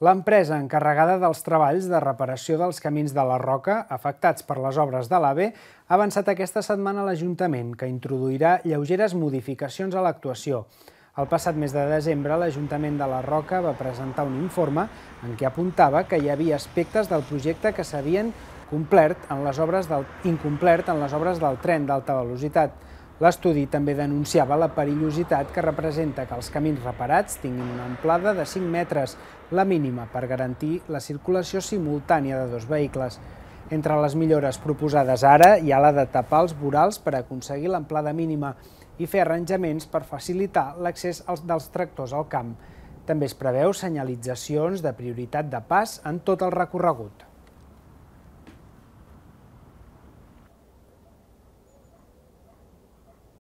L'empresa encarregada dels treballs de reparació dels camins de la Roca, afectats per les obres de l'AVE, ha avançat aquesta setmana a l'Ajuntament, que introduirà lleugeres modificacions a l'actuació. El passat mes de desembre, l'Ajuntament de la Roca va presentar un informe en què apuntava que hi havia aspectes del projecte que s'havien incomplert en les obres del tren d'alta velocitat. L'estudi també denunciava la perillositat que representa que els camins reparats tinguin una amplada de 5 metres, la mínima per garantir la circulació simultània de dos vehicles. Entre les millores proposades ara hi ha la de tapar els vorals per aconseguir l'amplada mínima i fer arranjaments per facilitar l'accés dels tractors al camp. També es preveu senyalitzacions de prioritat de pas en tot el recorregut.